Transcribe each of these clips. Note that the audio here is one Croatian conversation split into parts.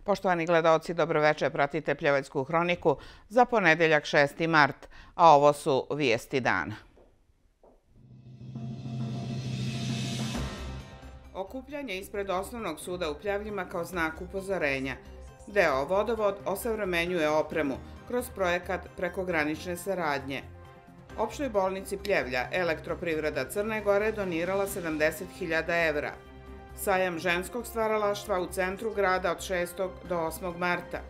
Poštovani gledaoci, dobroveče, pratite Pljevaljsku hroniku za ponedeljak 6. mart, a ovo su vijesti dana. Okupljanje ispred Osnovnog suda u Pljevljima kao znak upozorenja. Deo Vodovod osavremenjuje opremu kroz projekat prekogranične saradnje. Opštoj bolnici Pljevlja Elektroprivreda Crne Gore donirala 70.000 evra. Sajam ženskog stvaralaštva u centru grada od 6. do 8. marta.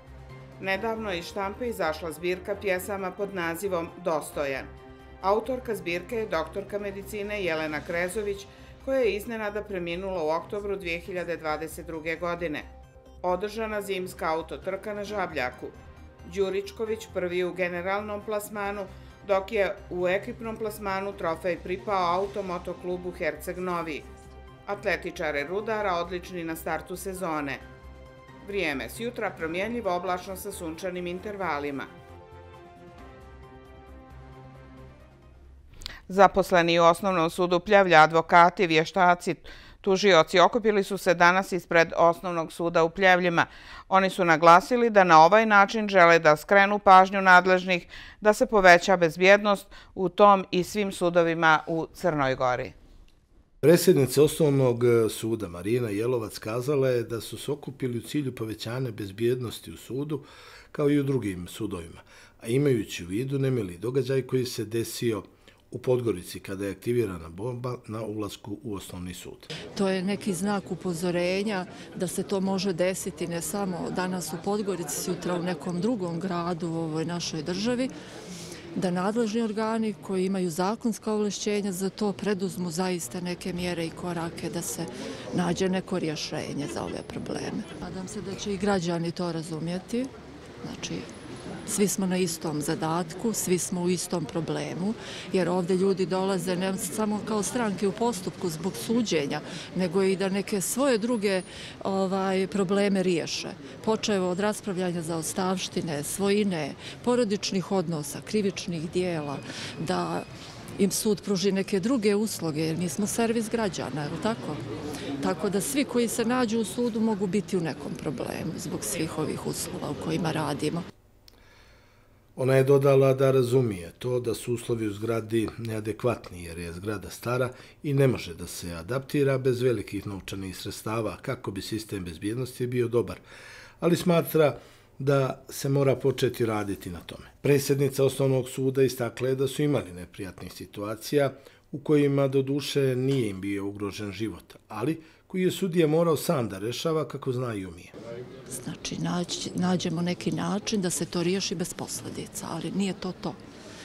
Nedavno je iz štampe izašla zbirka pjesama pod nazivom Dostojan. Autorka zbirke je doktorka medicine Jelena Krezović, koja je iznenada preminula u oktobru 2022. godine. Održana zimska autotrka na Žabljaku. Đuričković prvi u generalnom plasmanu, dok je u ekipnom plasmanu trofej pripao Automoto klubu Herceg Novi. Atletičare Rudara odlični na startu sezone. Vrijeme s jutra promjenljivo oblačno sa sunčanim intervalima. Zaposleni u Osnovnom sudu Pljevlja, advokati, vještaci, tužioci okupili su se danas ispred Osnovnog suda u Pljevljima. Oni su naglasili da na ovaj način žele da skrenu pažnju nadležnih da se poveća bezbjednost u tom i svim sudovima u Crnoj Gori. Predsjednica Osnovnog suda Marina Jelovac kazala je da su se okupili u cilju povećanja bezbjednosti u sudu kao i u drugim sudovima, a imajući u vidu nemili događaj koji se desio u Podgorici kada je aktivirana bomba na ulasku u Osnovni sud. To je neki znak upozorenja da se to može desiti ne samo danas u Podgorici, sutra u nekom drugom gradu u ovoj našoj državi, da nadležni organi koji imaju zakonska ovlašćenja za to preduzmu zaista neke mjere i korake da se nađe neko rješenje za ove probleme. Nadam se da će i građani to razumjeti. Znači, svi smo na istom zadatku, svi smo u istom problemu, jer ovdje ljudi dolaze ne samo kao stranke u postupku zbog suđenja, nego i da neke svoje druge probleme riješe. Počevo od raspravljanja zaostavštine, svojine, porodičnih odnosa, krivičnih dijela, da im sud pruži neke druge usluge, jer mi smo servis građana, je li tako? Tako da svi koji se nađu u sudu mogu biti u nekom problemu zbog svih ovih uslova u kojima radimo. Ona je dodala da razumije to da su uslovi u zgradi neadekvatni jer je zgrada stara i ne može da se adaptira bez velikih novčanih sredstava kako bi sistem bezbjednosti bio dobar, ali smatra da se mora početi raditi na tome. Predsjednica Osnovnog suda istakla je da su imali neprijatnih situacija u kojima doduše nije im bio ugrožen život, ali koji je sudija morao sam da rešava kako zna i umije. Znači, nađemo neki način da se to riješi bez posljedica, ali nije to to.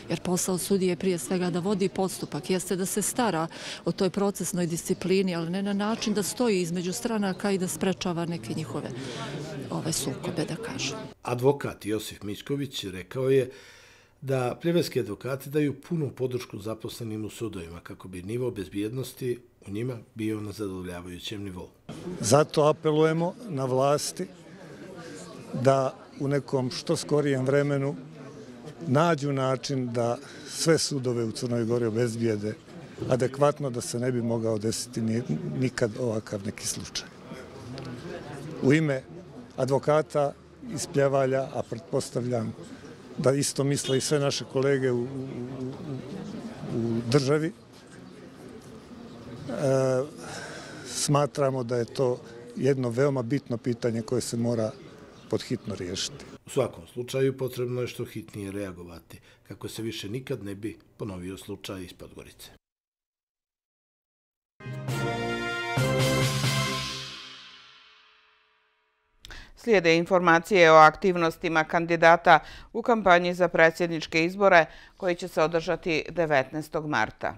Jer posao sudije je prije svega da vodi postupak, jeste da se stara o toj procesnoj disciplini, ali ne na način da stoji između stranaka i da sprečava neke njihove sukobe, da kažem. Advokat Josif Mićković rekao je da pljevaljski advokati daju punu podršku zaposlenim u sudovima kako bi nivo bezbjednosti u njima bio na zadovoljavajućem nivou. Zato apelujemo na vlasti da u nekom što skorijem vremenu nađu način da sve sudove u Crnoj Gori obezbijede adekvatno da se ne bi mogao desiti nikad ovakav neki slučaj. U ime advokata iz Pljevalja, a pretpostavljam da isto misle i sve naše kolege u državi, smatramo da je to jedno veoma bitno pitanje koje se mora podhitno riješiti. U svakom slučaju potrebno je što hitnije reagovati, kako se više nikad ne bi ponovio slučaj iz Podgorice. Slijede informacije o aktivnostima kandidata u kampanji za predsjedničke izbore koji će se održati 19. marta.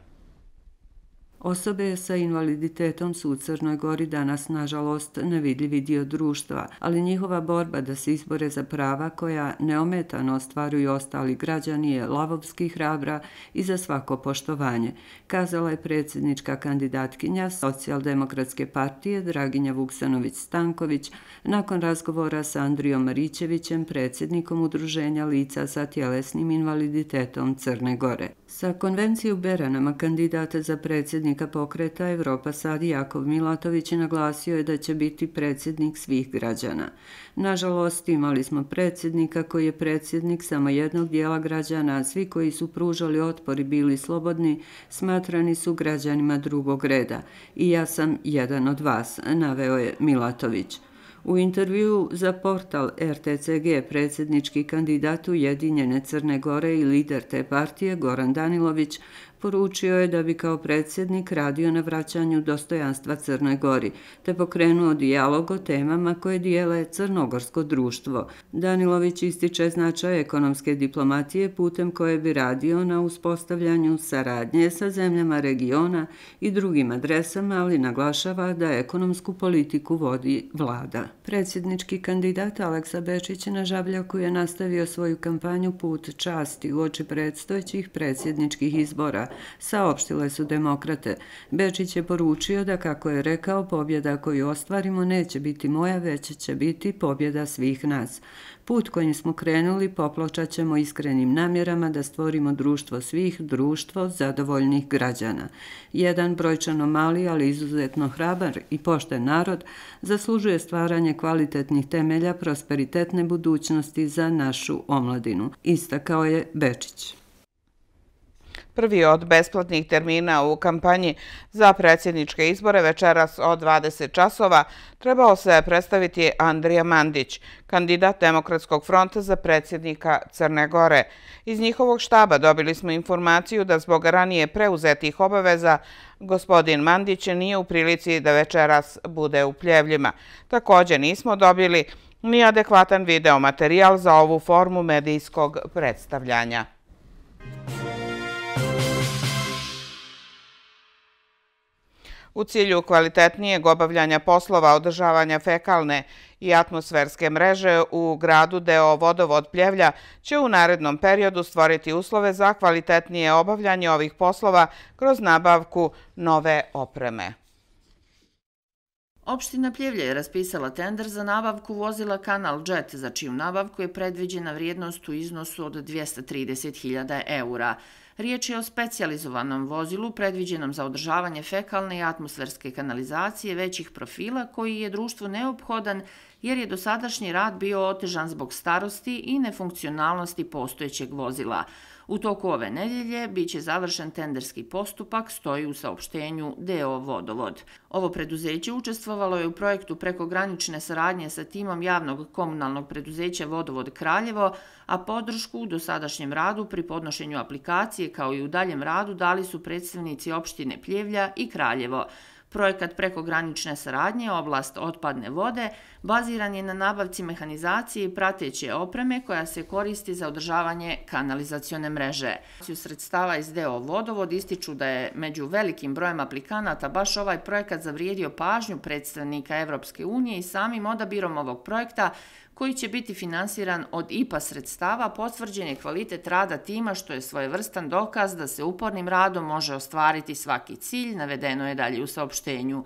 Osobe sa invaliditetom su u Crnoj Gori danas, nažalost, nevidljivi dio društva, ali njihova borba da se izbore za prava koja neometano ostvaruju ostali građani je lavovski hrabra i za svako poštovanje, kazala je predsjednička kandidatkinja Socijaldemokratske partije Draginja Vuksanović-Stanković nakon razgovora sa Andrijom Marićevićem, predsjednikom Udruženja lica sa tjelesnim invaliditetom Crne Gore. Sa konvencije u Beranama kandidata za predsjednika predsjednika pokreta Evropa Sad Jakov Milatović naglasio je da će biti predsjednik svih građana. Nažalost, imali smo predsjednika koji je predsjednik samo jednog dijela građana, a svi koji su pružali otpor i bili slobodni smatrani su građanima drugog reda. I ja sam jedan od vas, naveo je Milatović. U intervjuu za portal RTCG predsjednički kandidat Ujedinjene Crne Gore i lider te partije Goran Danilović poručio je da bi kao predsjednik radio na vraćanju dostojanstva Crnoj Gori, te pokrenuo dijalog o temama koje dijele crnogorsko društvo. Danilović ističe značaj ekonomske diplomatije putem koje bi radio na uspostavljanju saradnje sa zemljama regiona i drugim adresama, ali naglašava da ekonomsku politiku vodi vlada. Predsjednički kandidat Aleksa Bečić na Žabljaku je nastavio svoju kampanju Put časti uoči predstojećih predsjedničkih izbora, saopštile su demokrate. Bečić je poručio da, kako je rekao, pobjeda koju ostvarimo neće biti moja, već će biti pobjeda svih nas. Put kojim smo krenuli popločat ćemo iskrenim namjerama da stvorimo društvo svih, društvo zadovoljnih građana. Jedan brojčano mali, ali izuzetno hrabar i pošten narod zaslužuje stvaranje kvalitetnih temelja prosperitetne budućnosti za našu omladinu, istakao je Bečić. Prvi od besplatnih termina u kampanji za predsjedničke izbore večeras od 20 časova trebao se predstaviti Andrija Mandić, kandidat Demokratskog fronta za predsjednika Crne Gore. Iz njihovog štaba dobili smo informaciju da zbog ranije preuzetih obaveza gospodin Mandić nije u prilici da večeras bude u Pljevljima. Također nismo dobili ni adekvatan video materijal za ovu formu medijskog predstavljanja. U cilju kvalitetnijeg obavljanja poslova održavanja fekalne i atmosferske mreže u gradu DO Vodovod Pljevlja će u narednom periodu stvoriti uslove za kvalitetnije obavljanje ovih poslova kroz nabavku nove opreme. Opština Pljevlja je raspisala tender za nabavku vozila Kanal Jet, za čiju nabavku je predviđena vrijednost u iznosu od 230.000 eura. Riječ je o specijalizovanom vozilu predviđenom za održavanje fekalne i atmosferske kanalizacije većih profila, koji je društvu neophodan jer je dosadašnji rad bio otežan zbog starosti i nefunkcionalnosti postojećeg vozila. U toku ove nedjelje biće završen tenderski postupak, stoji u saopštenju DO Vodovod. Ovo preduzeće učestvovalo je u projektu prekogranične saradnje sa timom javnog komunalnog preduzeća Vodovod Kraljevo, a podršku u dosadašnjem radu pri podnošenju aplikacije kao i u daljem radu dali su predstavnici opštine Pljevlja i Kraljevo. Projekat prekogranične saradnje, oblast otpadne vode, baziran je na nabavci mehanizacije i prateće opreme koja se koristi za održavanje kanalizacione mreže. Sredstava iz DO Vodovod ističu da je među velikim brojem aplikanata baš ovaj projekat zavrijedio pažnju predstavnika Evropske unije i samim odabirom ovog projekta, koji će biti finansiran od IPA sredstava, potvrđen je kvalitet rada tima, što je svojevrstan dokaz da se upornim radom može ostvariti svaki cilj, navedeno je dalje u saopštenju.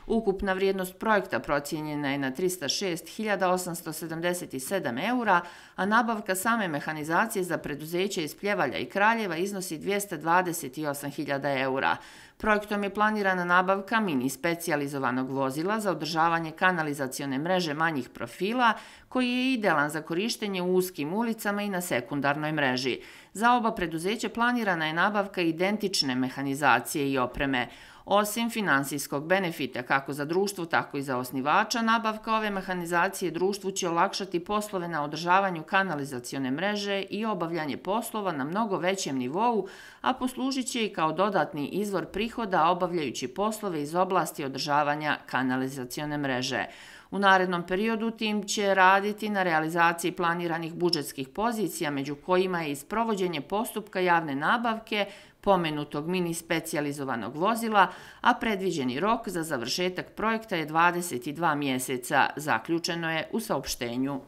Ukupna vrijednost projekta procijenjena je na 306.877 eura, a nabavka same mehanizacije za preduzeće iz Pljevalja i Kraljeva iznosi 228.000 eura. Projektom je planirana nabavka mini specijalizovanog vozila za održavanje kanalizacione mreže manjih profila, koji je idealan za korištenje u uskim ulicama i na sekundarnoj mreži. Za oba preduzeća planirana je nabavka identične mehanizacije i opreme. Osim finansijskog benefita kako za društvo, tako i za osnivača, nabavka ove mehanizacije društvu će olakšati poslove na održavanju kanalizacione mreže i obavljanje poslova na mnogo većem nivou, a poslužit će i kao dodatni izvor prihoda obavljajući poslove iz oblasti održavanja kanalizacione mreže. U narednom periodu tim će raditi na realizaciji planiranih budžetskih pozicija, među kojima je i sprovođenje postupka javne nabavke pomenutog mini specijalizovanog vozila, a predviđeni rok za završetak projekta je 22 mjeseca, zaključeno je u saopštenju.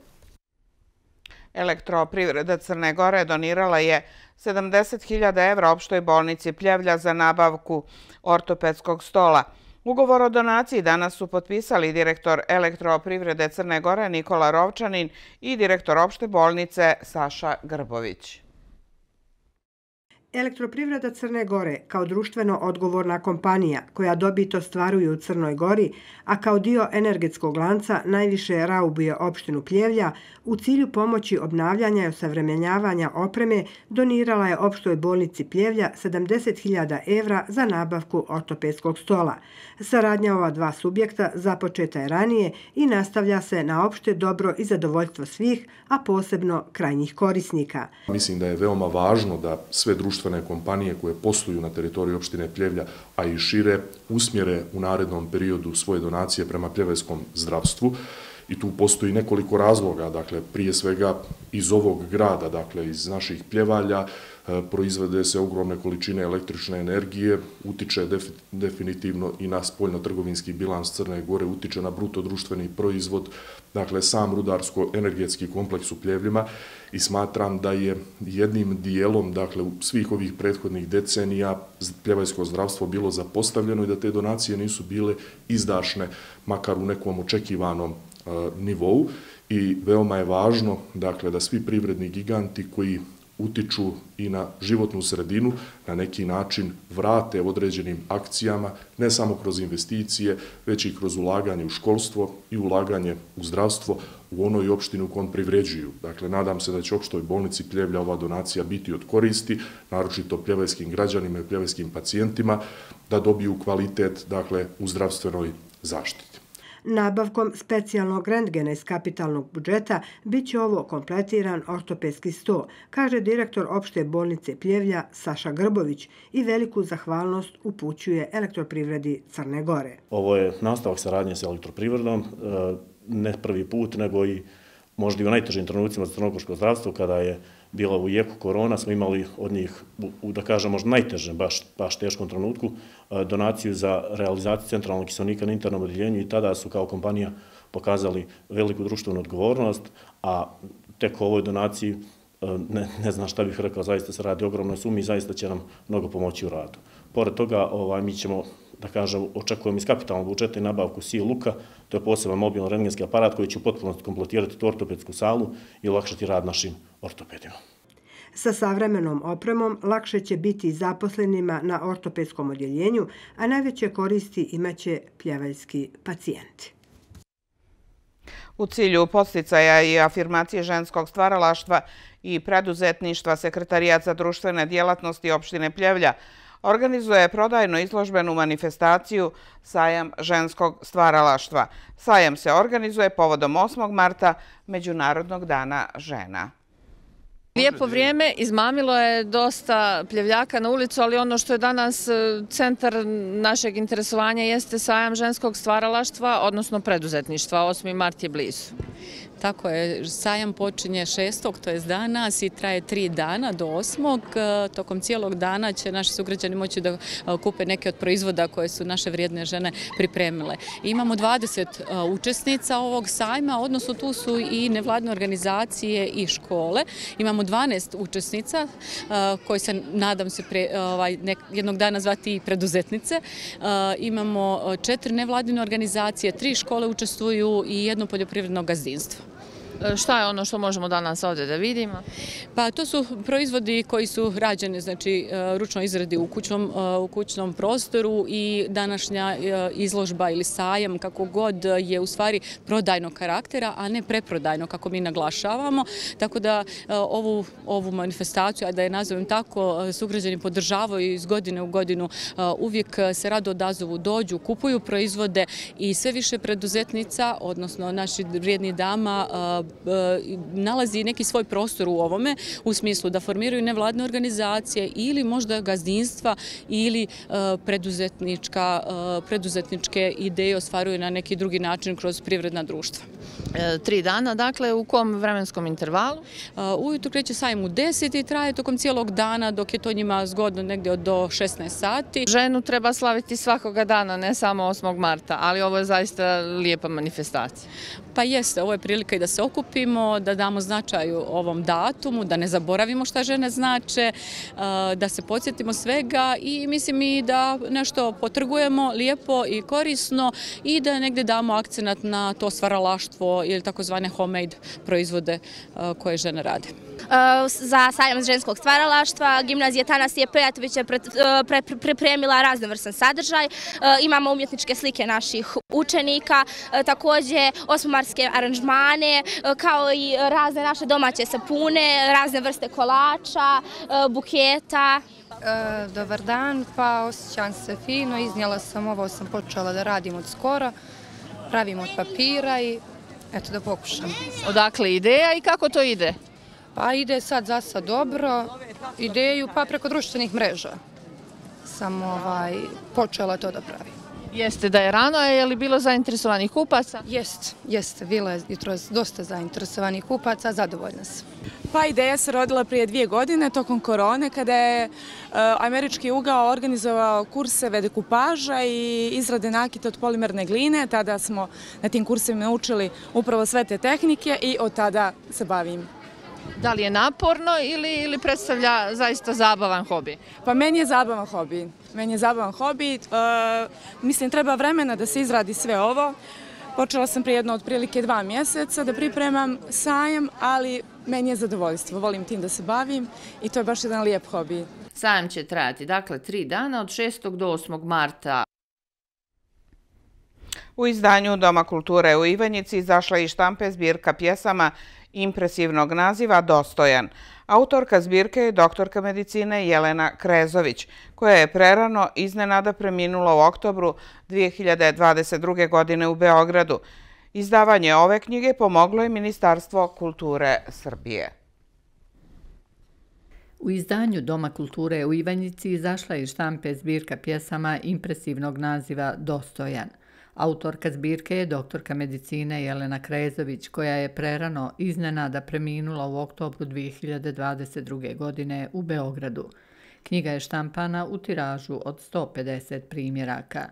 Elektroprivreda Crne Gore donirala je 70.000 evra opštoj bolnici Pljevlja za nabavku ortopedskog stola. Ugovor o donaciji danas su potpisali direktor Elektroprivrede Crne Gore Nikola Rovčanin i direktor opšte bolnice Saša Grbović. Elektroprivreda Crne Gore kao društveno odgovorna kompanija koja dobit ostvaruje u Crnoj Gori, a kao dio energetskog lanca najviše raubuje opštinu Pljevlja, u cilju pomoći obnavljanja i osavremenjavanja opreme donirala je opštoj bolnici Pljevlja 70.000 evra za nabavku ortopedskog stola. Saradnja ova dva subjekta započeta je ranije i nastavlja se na opšte dobro i zadovoljstvo svih, a posebno krajnjih korisnika. Mislim da je veoma važno da sve društvene kompanije koje posluju na teritoriji opštine Pljevlja, a i šire, usmjere u narednom periodu svoje donacije prema pljevljskom zdravstvu. I tu postoji nekoliko razloga, dakle, prije svega iz ovog grada, dakle, iz naših Pljevalja, proizvode se ogromne količine električne energije, utiče definitivno i na spoljno-trgovinski bilans Crne Gore, utiče na bruto društveni proizvod, dakle, sam rudarsko-energetski kompleks u Pljevljima i smatram da je jednim dijelom, dakle, u svih ovih prethodnih decenija pljevaljsko zdravstvo bilo zapostavljeno i da te donacije nisu bile izdašne, makar u nekom očekivanom nivou i veoma je važno, dakle, da svi privredni giganti koji utiču i na životnu sredinu na neki način vrate određenim akcijama, ne samo kroz investicije, već i kroz ulaganje u školstvo i ulaganje u zdravstvo u onoj opštini u kojoj privređuju. Dakle, nadam se da će opštoj bolnici Pljevlja ova donacija biti od koristi, naročito pljevljskim građanima i pljevljskim pacijentima, da dobiju kvalitet, dakle, u zdravstvenoj zaštiti. Nabavkom specijalnog rentgena iz kapitalnog budžeta bit će ovo kompletiran ortopedski sto, kaže direktor opšte bolnice Pljevlja Saša Grbović i veliku zahvalnost upućuje Elektroprivredi Crne Gore. Ovo je nastavak saradnje sa elektroprivredom, ne prvi put, nego i možda i u najtežim trenucima za crnogorsko zdravstvo, kada je bila u jeku korona, smo imali od njih, da kažem, možda najtežem, baš teškom trenutku, donaciju za realizaciju centralnog kiselnika na internom odjeljenju i tada su kao kompanija pokazali veliku društvenu odgovornost, a tek o ovoj donaciji ne znam šta bih rekao, zaista se radi o ogromnoj sumi i zaista će nam mnogo pomoći u radu. Pored toga, mi ćemo, da kažem, očekujemo iz kapitalnog budžeta i nabavku SIL Luka, to je poseban mobilno rentgenski aparat koji će u potpunosti kompletirati tu ortopedsku salu i olakšati rad našim ortopedima. Sa savremenom opremom lakše će biti zaposlenima na ortopedskom odjeljenju, a najveće koristi imaće pljevaljski pacijenti. U cilju podsticaja i afirmacije ženskog stvaralaštva i preduzetništva, Sekretarijat za društvene djelatnosti opštine Pljevlja organizuje prodajno-izložbenu manifestaciju Sajam ženskog stvaralaštva. Sajam se organizuje povodom 8. marta, Međunarodnog dana žena. Lijepo vrijeme, izmamilo je dosta Pljevljaka na ulicu, ali ono što je danas centar našeg interesovanja jeste sajam ženskog stvaralaštva, odnosno preduzetništva. 8. mart je blizu. Tako je, sajam počinje 6. to je danas i traje 3 dana do 8. Tokom cijelog dana će naši sugrađani moći da kupe neke od proizvoda koje su naše vrijedne žene pripremile. Imamo 20 učesnica ovog sajma, odnosno tu su i nevladine organizacije i škole. Imamo 12 učesnica koje se, nadam se, jednog dana zvati i preduzetnice. Imamo 4 nevladine organizacije, 3 škole učestvuju i 1 poljoprivredno gazdinstvo. Šta je ono što možemo danas ovdje da vidimo? Pa to su proizvodi koji su rađeni, znači ručno izradi u kućnom prostoru i današnja izložba ili sajam, kako god, je u stvari prodajnog karaktera, a ne preprodajno, kako mi naglašavamo. Tako da ovu manifestaciju, a da je nazovem tako, sugrađani podržavaju iz godine u godinu, uvijek se rado odazovu, dođu, kupuju proizvode i sve više preduzetnica, odnosno naši vrijedni dama, nalazi neki svoj prostor u ovome, u smislu da formiraju nevladne organizacije ili možda gazdinstva ili preduzetničke ideje ostvaruju na neki drugi način kroz privredna društva. 3 dana, dakle, u kom vremenskom intervalu? Ujutro kreće sajam u 10 i traje tokom cijelog dana, dok je to njima zgodno negdje do 16 sati. Ženu treba slaviti svakoga dana, ne samo 8. marta, ali ovo je zaista lijepa manifestacija. Pa jeste, ovo je prilika i da se okupimo, da damo značaju ovom datumu, da ne zaboravimo šta žene znače, da se podsjetimo svega i mislim i da nešto potrgujemo lijepo i korisno i da negdje damo akcenat na to stvaralaštvo ili takozvane homemade proizvode koje žene rade. za sajam ženskog stvaralaštva. Gimnazija Tanasije Pejatović je pripremila raznovrstan sadržaj. Imamo umjetničke slike naših učenika, također osmomarske aranžmane, kao i razne naše domaće sapune, razne vrste kolača, buketa. Dobar dan, pa osjećam se fino, iznijela sam ovo, sam počela da radim od skora, pravim od papira i eto da pokušam. Odakle ideja i kako to ide? Pa ide sad za sad dobro, ideju pa preko društvenih mreža sam počela to da pravim. Jeste da je rano, je li bilo zainteresovanih kupaca? Jeste, bilo je jutros dosta zainteresovanih kupaca, zadovoljna sam. Pa ideja se rodila prije 2 godine tokom korone kada je Američki ugao organizovao kurseve dekupaža i izrade nakita od polimerne gline. Tada smo na tim kursevima naučili upravo sve te tehnike i od tada se bavim. Da li je naporno ili predstavlja zaista zabavan hobi? Pa meni je zabavan hobi. Mislim, treba vremena da se izradi sve ovo. Počela sam prije jedno otprilike 2 mjeseca da pripremam sajam, ali meni je zadovoljstvo. Volim tim da se bavim i to je baš jedan lijep hobi. Sajam će trajati, dakle, 3 dana od 6. do 8. marta. U izdanju Doma kulture u Ivanjici izašla je i štampe zbirka pjesama impresivnog naziva Dostojan. Autorka zbirke je doktorka medicine Jelena Krezović, koja je prerano iznenada preminula u oktobru 2022. godine u Beogradu. Izdavanje ove knjige pomoglo je Ministarstvo kulture Srbije. U izdanju Doma kulture u Ivanjici izašla je i štampe zbirka pjesama impresivnog naziva Dostojan. Autorka zbirke je doktorka medicine Jelena Krezović, koja je prerano iznenada preminula u oktobru 2022. godine u Beogradu. Knjiga je štampana u tiražu od 150 primjeraka.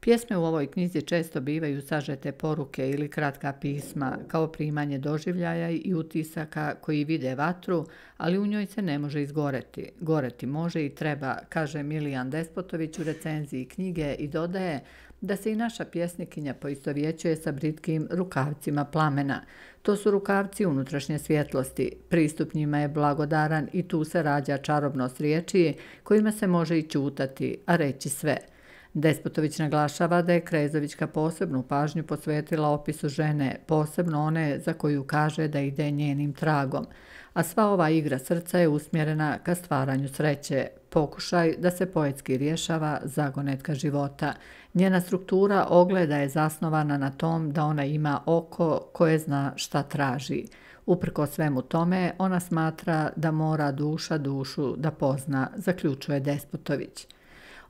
Pjesme u ovoj knjizi često bivaju sažete poruke ili kratka pisma, kao primanje doživljaja i utisaka koji vide vatru, ali u njoj se ne može izgoreti. Goreti može i treba, kaže Milijan Despotović u recenziji knjige i dodaje da se i naša pjesnikinja poistovjećuje sa britkim rukavcima plamena. To su rukavci unutrašnje svjetlosti. Pristup njima je blagodaran i tu se rađa čarobnost riječi kojima se može i ćutati, a reći sve. Despotović naglašava da je Krezovićka posebnu pažnju posvetila opisu žene, posebno one za koju kaže da ide njenim tragom. A sva ova igra srca je usmjerena ka stvaranju sreće, pokušaj da se poetski rješava zagonetka života. Njena struktura ogleda je zasnovana na tom da ona ima oko koje zna šta traži. Uprko svemu tome, ona smatra da mora duša dušu da pozna, zaključuje Despotović.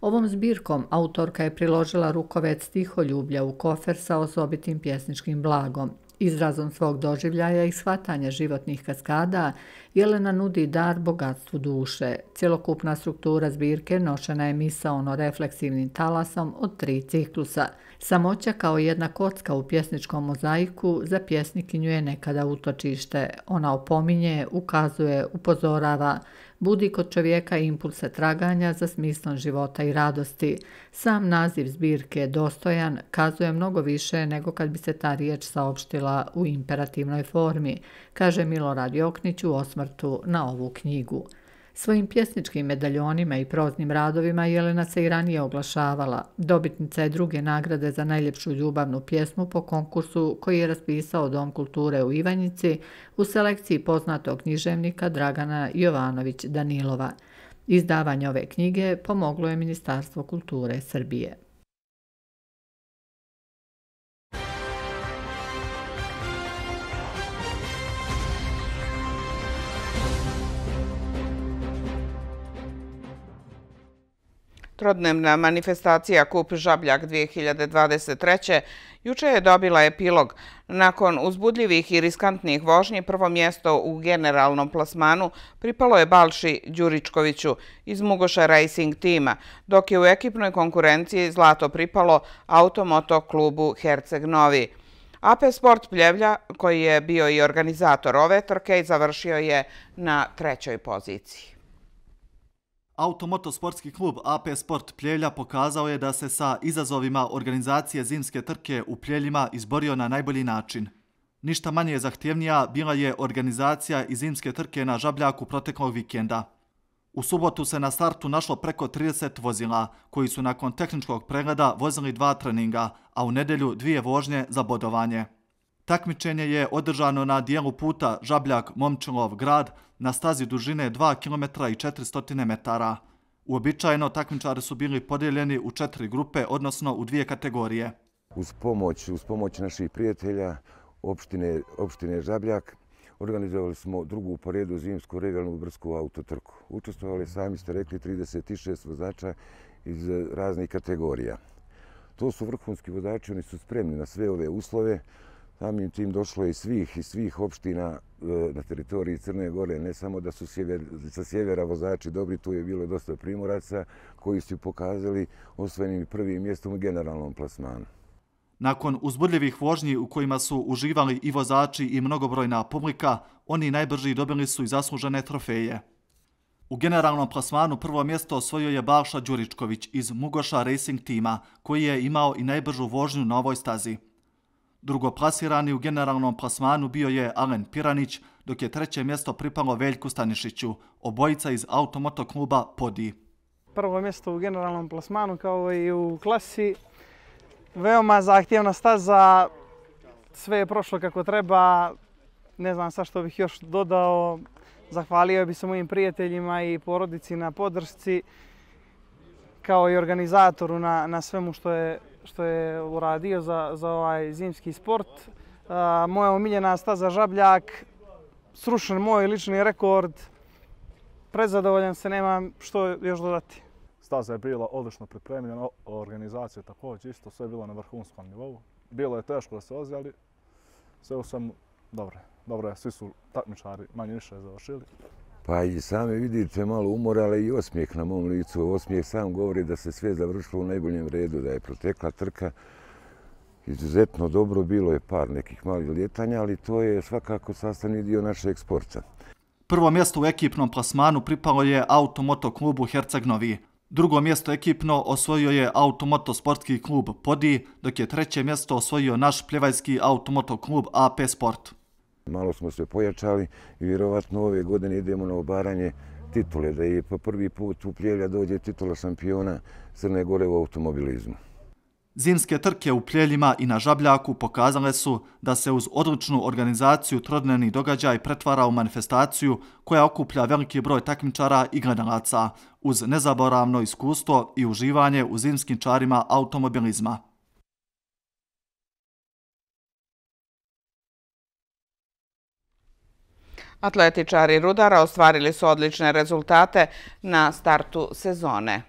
Ovom zbirkom autorka je priložila rukovec stiholjublja u kofer sa osobitim pjesničkim blagom. Izrazom svog doživljaja i shvatanja životnih kaskada, Jelena nudi dar bogatstvu duše. Cjelokupna struktura zbirke nošena je misaono-refleksivnim talasom od 3 ciklusa. Samoća kao jedna kocka u pjesničkom mozaiku za pjesnikinju je nekada utočište. Ona opominje, ukazuje, upozorava, budi kod čovjeka impulse traganja za smislom života i radosti. Sam naziv zbirke Dostojan kazuje mnogo više nego kad bi se ta riječ saopštila u imperativnoj formi, kaže Milorad Joknić u osvrtu na ovu knjigu. Svojim pjesničkim medaljonima i proznim radovima Jelena se i ranije oglašavala. Dobitnica je 2. nagrade za najljepšu ljubavnu pjesmu po konkursu koji je raspisao Dom kulture u Ivanjici u selekciji poznatog književnika Dragana Jovanović Danilova. Izdavanje ove knjige pomoglo je Ministarstvo kulture Srbije. Trodnevna manifestacija Kup Žabljak 2023. juče je dobila epilog. Nakon uzbudljivih i riskantnih vožnji, prvo mjesto u generalnom plasmanu pripalo je Balši Đuričkoviću iz Mugoša Racing tima, dok je u ekipnoj konkurenciji zlato pripalo Automoto klubu Herceg Novi. AP Sport Pljevlja, koji je bio i organizator ove trke, završio je na 3. poziciji. Automoto sportski klub AP Sport Pljevlja pokazao je da se sa izazovima organizacije zimske trke u Pljeljima izborio na najbolji način. Ništa manje zahtjevnija bila je organizacija i zimske trke na Žabljaku proteklog vikenda. U subotu se na startu našlo preko 30 vozila, koji su nakon tehničkog pregleda vozili 2 treninga, a u nedjelju 2 vožnje za bodovanje. Takmičenje je održano na dijelu puta Žabljak-Momčilov grad na stazi dužine 2 km i 400 metara. Uobičajeno takmičari su bili podijeljeni u 4 grupe, odnosno u 2 kategorije. Uz pomoć naših prijatelja opštine Žabljak organizovali smo drugu po redu zimsku regionalnu brsku autotrku. Učestvovali, sami ste rekli, 36 vozača iz raznih kategorija. To su vrhunski vozači, oni su spremni na sve ove uslove. Samim tim došlo je svih opština na teritoriji Crne Gore, ne samo da su sa sjevera vozači dobri, tu je bilo dosta Primoraca koji su pokazali osvojenim prvim mjestom u generalnom plasmanu. Nakon uzbudljivih vožnji u kojima su uživali i vozači i mnogobrojna publika, oni najbrži dobili su i zaslužene trofeje. U generalnom plasmanu prvo mjesto osvojio je Balša Đuričković iz Mugoša Racing tima, koji je imao i najbržu vožnju na ovoj stazi. Drugoplasirani u generalnom plasmanu bio je Alen Piranić, dok je 3. mjesto pripalo Veljku Stanišiću, obojica iz automoto kluba Podi. Prvo mjesto u generalnom plasmanu kao i u klasi. Veoma zahtjevna staza, sve je prošlo kako treba, ne znam sa što bih još dodao. Zahvalio bih se mojim prijateljima i porodici na podršci, kao i organizatoru na svemu što je uradio za ovaj zimski sport. Moja omiljena staza Žabljak, srušen moj lični rekord, prezadovoljan se, nemam što još dodati. Staza je bila odlično pripremljena, organizacija također isto, sve je bilo na vrhunskom nivou. Bilo je teško da se vozi, ali sve u svemu dobro je, svi su takmičari manje više završili. Pa i sami vidite malo umora, ali i osmijeh na mom licu. Osmijeh sam govori da se sve završilo u najboljem redu, da je protekla trka izuzetno dobro. Bilo je par nekih malih ljetanja, ali to je svakako sastavni dio našeg sporta. Prvo mjesto u ekipnom plasmanu pripalo je automoto klubu Herceg Novi. Drugo mjesto ekipno osvojio je automoto sportski klub Podi, dok je 3. mjesto osvojio naš pljevajski automoto klub AP Sport. Malo smo se pojačali i vjerovatno ove godine idemo na obaranje titule, da je po prvi put u Pljevlja dođe titula šampiona Crne Gore u automobilizmu. Zimske trke u Pljeljima i na Žabljaku pokazale su da se uz odličnu organizaciju trodnevni događaj pretvara u manifestaciju koja okuplja veliki broj takmičara i gledalaca, uz nezaboravno iskustvo i uživanje u zimskim čarima automobilizma. Atletičari Rudara ostvarili su odlične rezultate na startu sezone.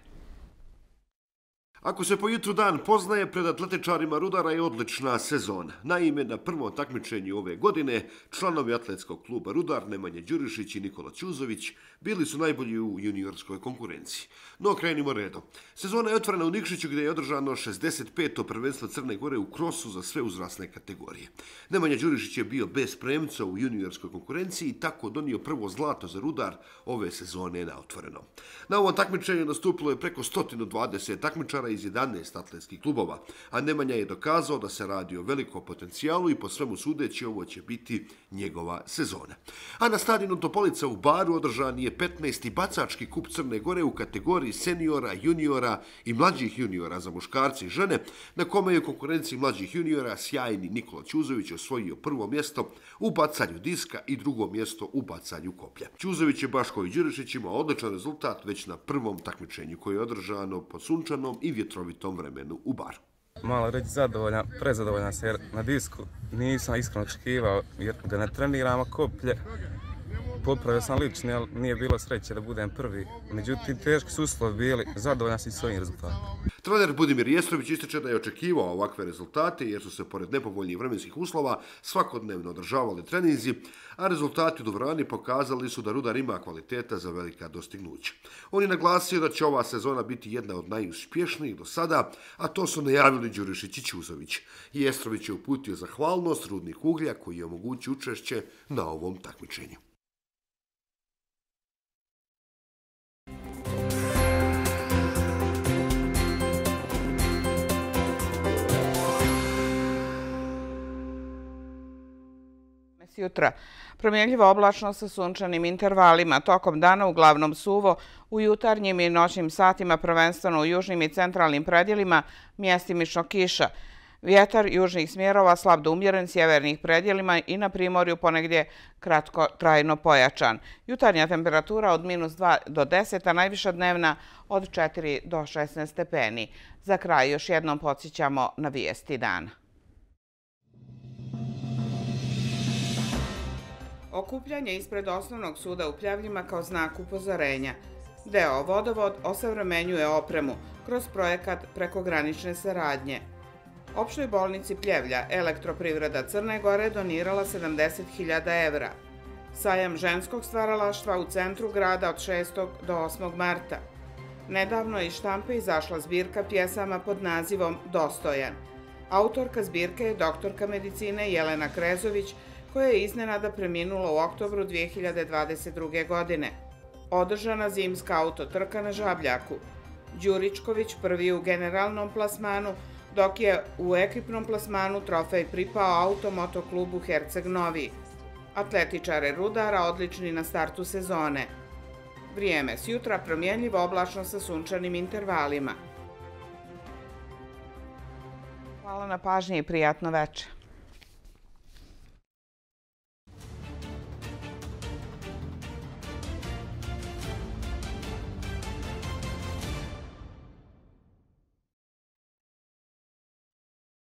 Ako se po jutru dan poznaje, pred atletičarima Rudara je odlična sezona. Naime, na prvom takmičenju ove godine članovi atletskog kluba Rudar, Nemanja Đurišić i Nikola Ćuzović, bili su najbolji u juniorskoj konkurenciji. No, krenimo redom. Sezona je otvorena u Nikšiću gdje je održano 65. prvenstvo Crne Gore u krosu za sve uzrasne kategorije. Nemanja Đurišić je bio bez premca u juniorskoj konkurenciji i tako donio prvo zlato za Rudar ove sezone na otvoreno. Na ovom takmičenju nastupilo je preko 120 takmičara iz 11 atletskih klubova, a Nemanja je dokazao da se radi o velikom potencijalu i po svemu sudeći ovo će biti njegova sezona. A na stadionu Topolica u Baru održan je 15. bacački kup Crne Gore u kategoriji seniora, juniora i mlađih juniora za muškarce i žene, na kome je u konkurenciji mlađih juniora sjajni Nikola Ćuzović osvojio prvo mjesto u bacanju diska i drugo mjesto u bacanju koplja. Ćuzović je baš kao i Đurišić imao odličan rezultat već na prvom takmičenju koje je održano po sunčanom i vjetrovitom vremenu u Baru. Malo reći zadovoljan, prezadovoljan se jer na disku nisam iskreno očekivao jer da ne treniramo koplje. Popravio sam lični, ali nije bilo sreće da budem prvi. Međutim, teški su uslovi bili, zadovoljan sam svojim rezultatom. Trener Budimir Jestrović ističe da je očekivao ovakve rezultate jer su se pored nepovoljnih vremenskih uslova svakodnevno održavali treninzi, a rezultati u dvorani pokazali su da Rudar ima kvaliteta za velika dostignuća. On je naglasio da će ova sezona biti jedna od najuspješnijih do sada, a to su najavili Đurišić i Ćuzović. Jestrović je uputio zahvalnost Rudnik Uglja koji je omogućio učešće na ovom takmičenju. Sjutra promjenljivo oblačno sa sunčanim intervalima, tokom dana uglavnom suvo, u jutarnjim i noćnim satima prvenstveno u južnim i centralnim predjelima mjestimično kiša. Vjetar južnih smjerova slab do umjeren sjevernih predjelima i na primorju ponegdje kratko trajno pojačan. Jutarnja temperatura od -2 do 10, a najviša dnevna od 4 do 16 stepeni. Za kraj još jednom podsjećamo na vijesti dana. Okupljanje ispred Osnovnog suda u Pljavljima kao znak upozorenja. Deo Vodovod osavremenjuje opremu kroz projekat prekogranične saradnje. Opštoj bolnici Pljevlja Elektroprivreda Crne Gore donirala 70.000 evra. Sajam ženskog stvaralaštva u centru grada od 6. do 8. marta. Nedavno iz štampe izašla zbirka pjesama pod nazivom Dostojan. Autorka zbirke je doktorka medicine Jelena Krezović, koja je iznenada preminula u oktobru 2022. godine. Održana zimska autotrka na Žabljaku. Đuričković prvi u generalnom plasmanu, dok je u ekipnom plasmanu trofej pripao automotoklubu Herceg Novi. Atletičare Rudara odlični na startu sezone. Vrijeme sjutra promjenljivo oblačno sa sunčanim intervalima. Hvala na pažnji i prijatno večer.